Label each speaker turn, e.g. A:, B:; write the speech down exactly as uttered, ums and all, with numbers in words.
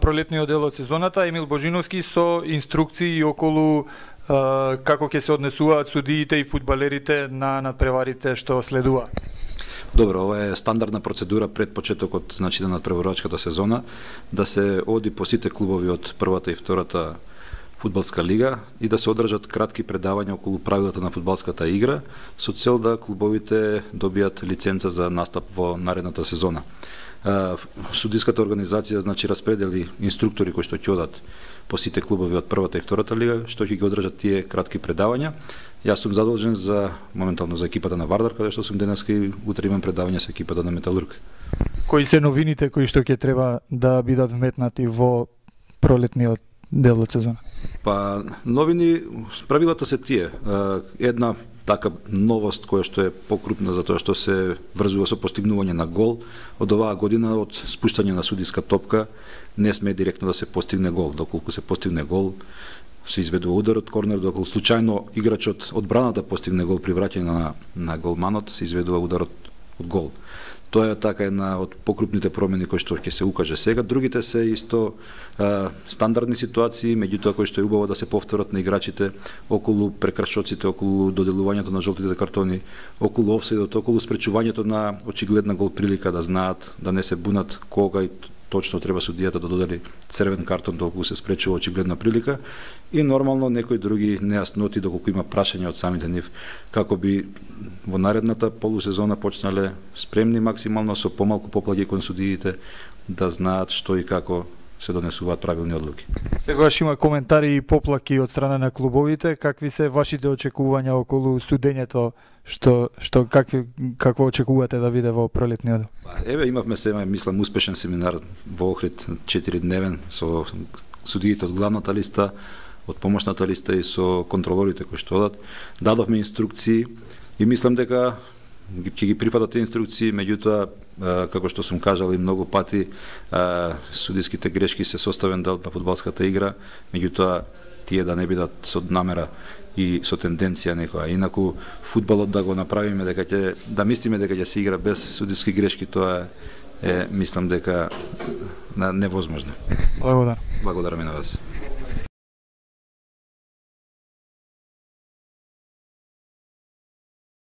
A: пролетниот дел од сезоната, Емил Божиновски со инструкции околу а, како ќе се однесуваат судиите и фудбалерите на надпреварите што следува.
B: Добро, ова е стандардна процедура пред почетокот, значи, на надпреварувачката сезона, да се оди по сите клубови од првата и втората фудбалска лига и да се одржат кратки предавања околу правилата на фудбалската игра со цел да клубовите добијат лиценца за настап во наредната сезона. Судиската организација, значи, распредели инструктори кои што ќе одат по сите клубови од првата и втората лига, што ќе ги одржат тие кратки предавања. Јас сум задолжен за моментално за екипата на Вардар, каде што сум денеска и утре имам предавање со екипата на Металург.
A: Кои се новините кои што ќе треба да бидат вметнати во пролетниот дел од сезона?
B: Па, новини, правилата се тие. Една така новост која што е покрупна затоа што се врзува со постигнување на гол. Од оваа година, од спуштање на судиска топка, не сме директно да се постигне гол. Доколку се постигне гол, се изведува удар од корнер, доколку случајно играчот одбраната постигне гол при враќање на, на голманот, се изведува удар од, од гол. Тоа е така една од покрупните промени кои што ќе се укаже сега. Другите се исто а, стандардни ситуации, меѓутоа кои што е убаво да се повторат на играчите околу прекрашоците, околу доделувањето на жолтите картони, околу офсайдот, околу спречувањето на очигледна гол прилика, да знаат, да не се бунат кога и точно треба судијата да додели црвен картон доколку се спречува очигледна прилика, и нормално некои други нејасноти доколку има прашања од самите нив, како би во наредната полусезона почнале спремни максимално со помалку поплаќи кон судиите, да знаат што и како се донесуваат правилни одлуки.
A: Сегаш има коментари и поплаки од страна на клубовите. Какви се вашите очекувања околу судењето, што што какви какво очекувате да биде во пролетниот дел?
B: Еве, имавме се, мислам, успешен семинар во Охрид, четиридневен, со судиите од главната листа, од помошната листа и со контролорите кои што одат. Дадовме инструкции и мислам дека ќе ги прифатат тие инструкции, меѓутоа, како што сум кажал и многу пати, судиските грешки се составен дел на фудбалската игра, меѓутоа тие да не бидат со намера и со тенденција некоја. Инаку фудбалот да го направиме дека ќе да мислиме дека ќе се игра без судиски грешки, тоа е, е мислам дека невозможно.
A: Благодарам.
B: Благодарам и на вас.